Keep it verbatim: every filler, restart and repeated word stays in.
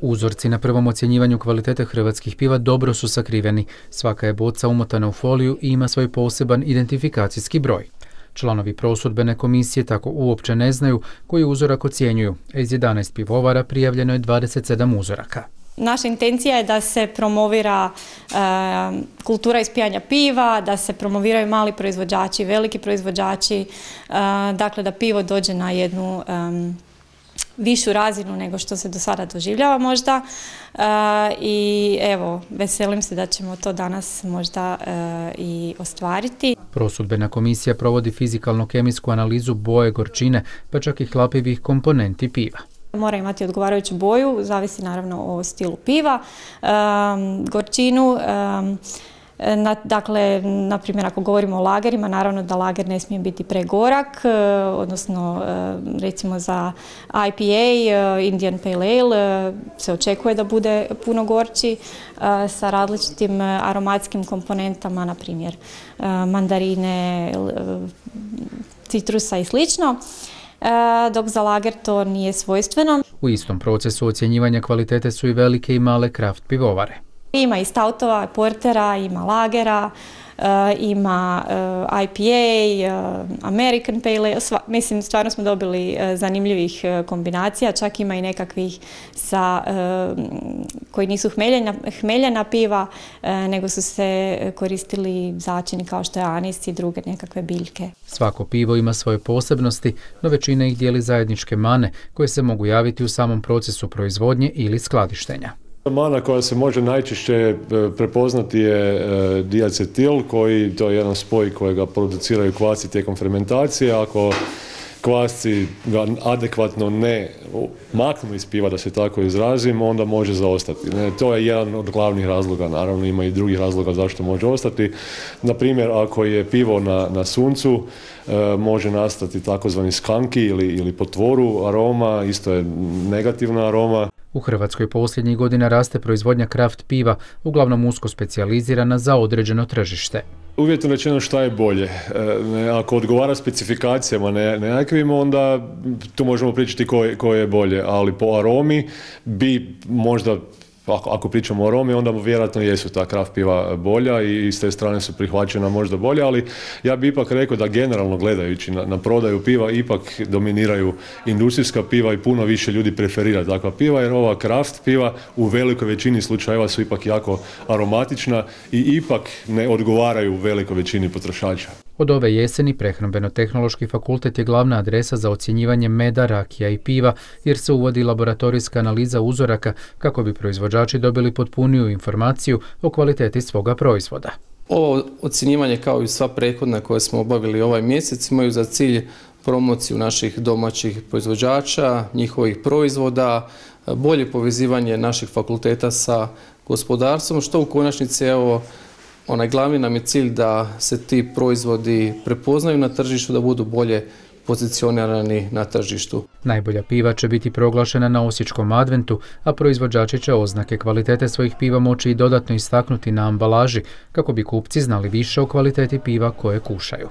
Uzorci na prvom ocjenjivanju kvalitete hrvatskih piva dobro su sakriveni. Svaka je boca umotana u foliju i ima svoj poseban identifikacijski broj. Članovi prosudbene komisije tako uopće ne znaju koji uzorak ocjenjuju. Iz jedanaest pivovara prijavljeno je dvadeset sedam uzoraka. Naša intencija je da se promovira e, kultura ispijanja piva, da se promoviraju mali proizvođači, veliki proizvođači, e, dakle da pivo dođe na jednu e, višu razinu nego što se do sada doživljava možda. E, I evo, veselim se da ćemo to danas možda e, i ostvariti. Prosudbena komisija provodi fizikalno-kemijsku analizu boje, gorčine, pa čak i hlapivih komponenti piva. Mora imati odgovarajuću boju, zavisi naravno o stilu piva, um, gorčinu, um, na, dakle, na primjer ako govorimo o lagerima, naravno da lager ne smije biti pregorak, uh, odnosno uh, recimo za I P A, uh, Indian Pale Ale, uh, se očekuje da bude puno gorči uh, sa različitim uh, aromatskim komponentama, na primjer uh, mandarine, uh, citrusa i slično. Dok za lager to nije svojstveno. U istom procesu ocjenjivanja kvalitete su i velike i male kraft pivovare. Ima i stautova, portera, ima lagera, ima I P A, American Pale Ale. Mislim, stvarno smo dobili zanimljivih kombinacija, čak ima i nekakvih sa, koji nisu hmeljena, hmeljena piva, nego su se koristili začini kao što je anis i druge nekakve biljke. Svako pivo ima svoje posebnosti, no većina ih dijeli zajedničke mane koje se mogu javiti u samom procesu proizvodnje ili skladištenja. Mana koja se može najčešće prepoznati je diacetil, koji to je jedan spoj kojega produciraju kvasci tijekom fermentacije. Ako kvasci ga adekvatno ne maknu iz piva, da se tako izrazim, onda može zaostati. Ne, to je jedan od glavnih razloga, naravno ima i drugih razloga zašto može ostati. Na primjer, ako je pivo na, na suncu, e, može nastati takozvani skanki ili, ili potvoru aroma, isto je negativna aroma. U Hrvatskoj posljednjih godina raste proizvodnja kraft piva, uglavnom usko specijalizirana za određeno tržište. Uvjetno rečeno šta je bolje. E, ako odgovara specifikacijama nekakvim, onda tu možemo pričati koje, koje je bolje, ali po aromi bi možda, ako, ako pričamo o aromi, onda vjerojatno jesu ta kraft piva bolja i s te strane su prihvaćena možda bolja, ali ja bi ipak rekao da generalno gledajući na, na prodaju piva ipak dominiraju industrijska piva i puno više ljudi preferira takva piva, jer ova kraft piva u velikoj većini slučajeva su ipak jako aromatična i ipak ne odgovaraju velikoj većini potrošača. Od ove jeseni Prehrambeno-tehnološki fakultet je glavna adresa za ocjenjivanje meda, rakija i piva, jer se uvodi laboratorijska analiza uzoraka kako bi proizvođači dobili potpuniju informaciju o kvaliteti svoga proizvoda. Ovo ocjenjivanje, kao i sva prethodna koje smo obavili ovaj mjesec, imaju za cilj promociju naših domaćih proizvođača, njihovih proizvoda, bolje povezivanje naših fakulteta sa gospodarstvom, što u konačnici, evo, onaj glavni nam je cilj da se ti proizvodi prepoznaju na tržištu, da budu bolje pozicionirani na tržištu. Najbolja piva će biti proglašena na Osječkom adventu, a proizvođači će oznake kvalitete svojih piva moći i dodatno istaknuti na ambalaži kako bi kupci znali više o kvaliteti piva koje kušaju.